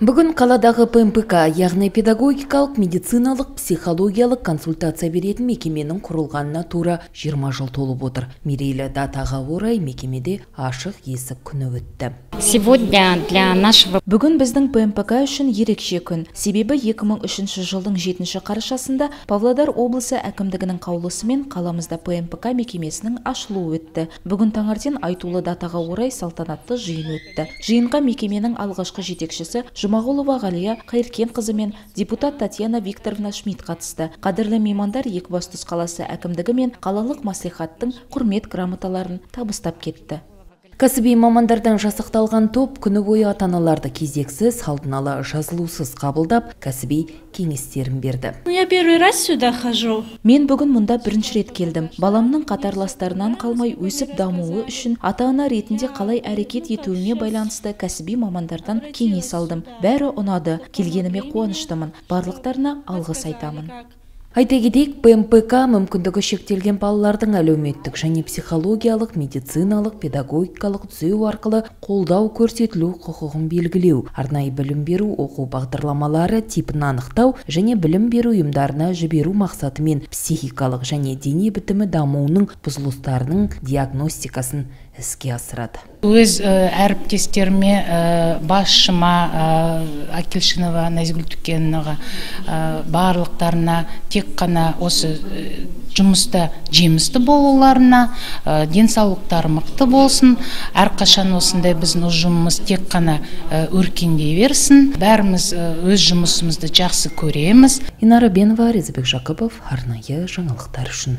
Бүгін қаладағы ПМПК, яғни педагогикалық, медициналық, психологиялық консультация беретін мекеменің құрылғанына тура 20 жыл толып отыр. Мерейлі датаға орай мекемеде ашық есік күні өтті. Бүгін біздің ПМПК үшін ерекше күн. Себебі 2003 жылдың 7 қарашасында Павлодар облысы әкімдігінің қаулысымен қаламызда ПМПК мекемесінің ашылуы өтті. Бүгін таңертең айтулы датаға орай салтанатты жиын өтті. Жиынға мекеменің алғашқы жетекшісі Жұмағұлова Ғалия Қайыркенқызы мен депутат Татьяна Викторовна Шмидт қатысты. Қадірлі меймандар Екібастұз қаласы әкімдігі мен қалалық мәслихаттың құрмет грамоталарын табыстап кетті. Кәсіби мамандардан жасақталған топ күні бойы ата-аналарды кезексіз, алдын ала жазылусыз қабылдап, кәсіби кеңестерін берді. Я первый раз сюда хожу. Мен бүгін мұнда бірінші рет келдім. Баламның қатарластарынан қалмай өсіп дамуы үшін ата-ана ретінде қалай әрекет етуіне байланысты кәсіби мамандардан кеңес алдым. Бәрі ұнады. Келгеніме қуаныштымын. Барлықтарына алғыс айтамын. Айта кетейік, ПМПК мүмкіндігі шектелген балалардың әлеуметтік және психологиялық, медициналық, педагогикалық түзеу арқылы қолдау көрсетілу құқығын белгілеу, арнайы білім беру оқу бағдарламалары типін анықтау және білім беру ұйымдарына жіберу мақсатымен психикалық және дене бітімі дамуының бұзылыстарының диагностикасын іске асырады. Өз әріптестеріме, басшыма, Акилшинова Назгүл Түкеновнаға, барлықтарына тек қана осы жұмыста жемісті болуларына, денсаулықтары мықты болсын, әрқашан осындай біздің ұжымымыз тек қана өркендей берсін. Бәріміз өз жұмысымызды жақсы көреміз. Инара Бенова, Резабек Жақыпов, арнайы жаңалықтар үшін.